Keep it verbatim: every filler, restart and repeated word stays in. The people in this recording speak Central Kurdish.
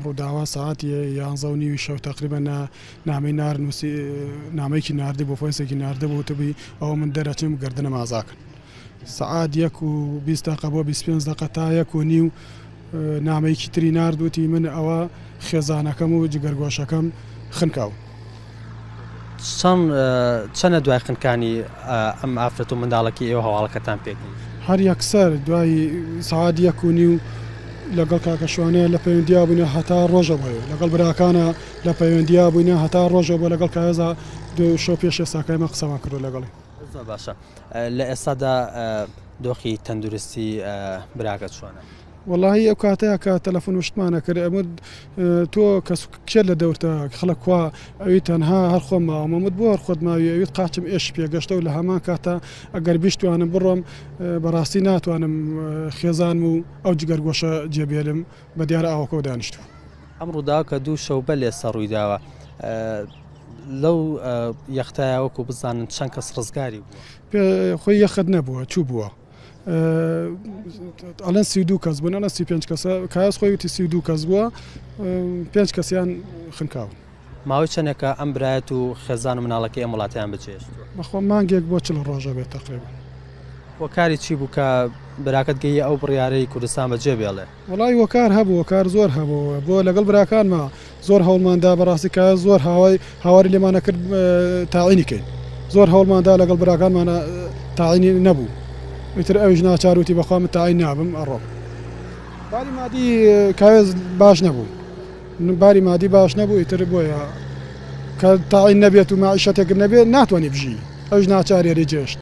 ئەم ڕووداوە سەعات یانزە و نیوی شەو تقریبا نامەی نار نووسی، نامەیەکی ناردی بۆ فۆیسێکی ناردە بۆ وتبی ئەوە من دەرەچم گردنم ئازاکەن. سەعات یەک و بیست دقە بۆ بیست پێنج دقە تا یەک و نیو نامەیەکی تری نارد وتی من ئەوە خێزانەکەم و جگەرگۆشەکەم خنکاو. چەند چەنە دوای خنکانی ئەم ئافرەت و منداڵەکەی ئێوە هەواڵەکەتان پێگەیشت؟ هەر یەکسەر دوای سەعات یەک و نیو لەگەڵ کاکەشوانەیە لە پەیوەندیا بووینە هەتا ڕۆژە بۆیە، لەگەڵ براکانە لە پەیوەندیا بووینە هەتا ڕۆژە بۆ، لەگەڵ کاوێزا دوو شەو پێش ئێستاکای من قسەمان کردو لەگەڵی. زۆر باشە. لە ئێستادا دۆخی تەندروستی براکە چۆنە؟ وەڵاهی ئەو کاتەیە کە تەلەفۆن وشتمانە کرد ئەمە تۆ کەس کێ لە دەورتە خەڵک کوا ئەوی تەنها هەر خۆم ماوە مت بۆ هەر خۆت ماوی ئەویت قاچم ئێش پێگەشتە و لە هەمان کاتە ئەگەر بیشتوانم بڕۆم بەڕاستی ناتوانم خێزانم و ئەو جگەرگۆشە جێبێلم بە دیارە ئاوەکەوە دانیشتوو. ئەم ڕووداوە کە دوو شەو بەر لێستا ڕوویداوە لەو یەختایە وەکو بزانن چەند کەس ڕزگاری بووە؟ خۆی یەخت نەبووە، چوو بووە. ئەڵێن سی و دوو کەس بوون، ئەڵێن سی و پێنج کەسە، کاس خۆی وتی سی و دوو کەس بووە، پێنج کەسیان خنکاون. ماوەی چەندێکە ئەم برایەت و خێزان و مناڵەکەی ئەم وڵاتیان بەجێهێشتووە؟ بەخۆ مانگێک بۆ چل ڕۆژە بێت تقریبا. وەکاری چی بوو کە براکەت گەیە ئەو بڕیارەی کوردستان بەجێ بێڵێ؟ وەڵای وەکار هەبوو، وەکار زۆر هەبوو. بۆ لەگەڵ براکانما زۆر هەوڵماندا بەڕاستی کە زۆر هاوای هاواری لێمانە کرد تاعینی کەین، زۆر هەوڵماندا لەگەڵ براکانمانە تاعینی نەبوو. ئیتر ئەویش ناچاروتی بەخوا من تاعین نابم ئەڕۆم. باری مادی کاوێز باش نەبوو، باری مادی باش نەبوو، ئیتر بۆیە کە تاعین نەبێت و ماعیشەتێک نەبێت ناتوانانی بژی، ئەویش ناچارێری جێشت.